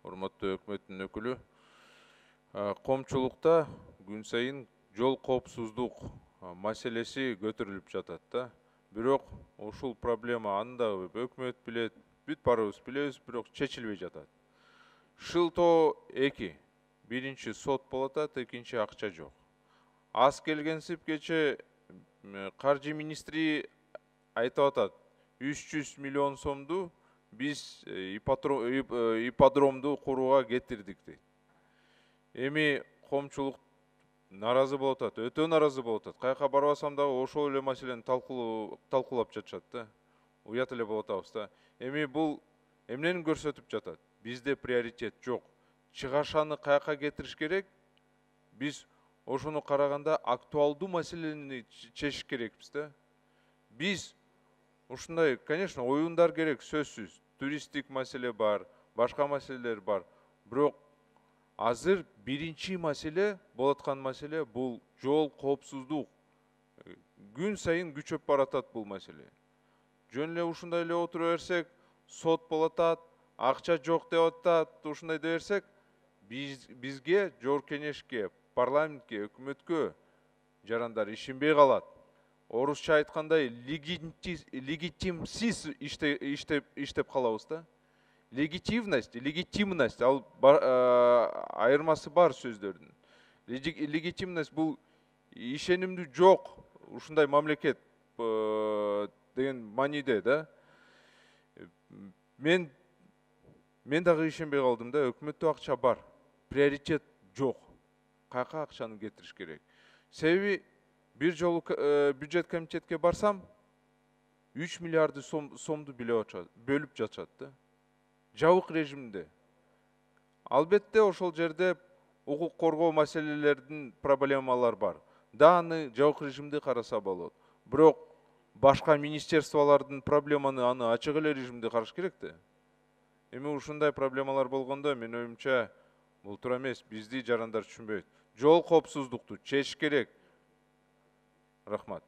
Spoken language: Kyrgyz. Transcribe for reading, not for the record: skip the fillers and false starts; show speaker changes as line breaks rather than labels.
урматтуу өкмөттүн өкүлү. Коомчулукта күн сайын жол коопсуздук маселеси көтөрүлүп жатат да. Бирок ушул проблема анда өкмөт билет, бүт баарыбыз билебиз, бирок чечилбей жатат. Шылтоо 2. Биринчи сот болуп атат, экинчи акча жок. Аз келгенсип кече каржы министри айтып атат, 300 миллион сомду биз ипподромду курууга кетирдик дейт. Эми коомчулук наразы болуп атат, өтө наразы болуп атат. Каяка барбасам дагы ошол эле маселени талкуулап жатышат да. Уят эле болуп атабыз да. Эми бул эмнени көрсөтүп жатат? Бизде приоритет жок. Чыгашаны каяка кетириш керек? Биз ошону караганда актуалдуу маселени чечиш керекпиз да. Биз ушундай, конечно, оюндар керек, сөзсүз. Туристтик маселе бар, башка маселелер бар. Бирок азыр биринчи маселе, болуп аткан маселе бул жол коопсуздук. Күн сайын күчөп баратат бул маселе. Жөн эле ушундай эле отура берсек, сот болуп атат, акча жок деп атат, ушундай деп берсек, бизге, жогорку кеңешке, парламентке, өкмөткө жарандар ишенбей калат. Орусча айткандай, легитимсиз иштеп калабыз да. Легитимность, ал айырмасы бар сөздөрдүн. Легитимность бул ишенимдүү жок, ушундай мамлекет деген мааниде да. Мен дагы ишенбей калдым да, өкмөттө акча бар, приоритет жок. Каяка акчаны кетириш керек? Себеби бир жолу бюджет комитетке барсам, 3 миллиарды сомду бөлүп жатышат да. Жабык режимде. Албетте ошол жерде укук коргоо маселелердин проблемалар бар. Да, аны жабык режимде караса болот. Бирок башка министерстволордун проблеманы аны ачык эле режимде караш керек да. Эми ушундай проблемалар болгондо, мен оюмча, бул туура эмес, бизди жарандар түшүнбөйт. Жол коопсуздукту чечиш керек. Рахмат.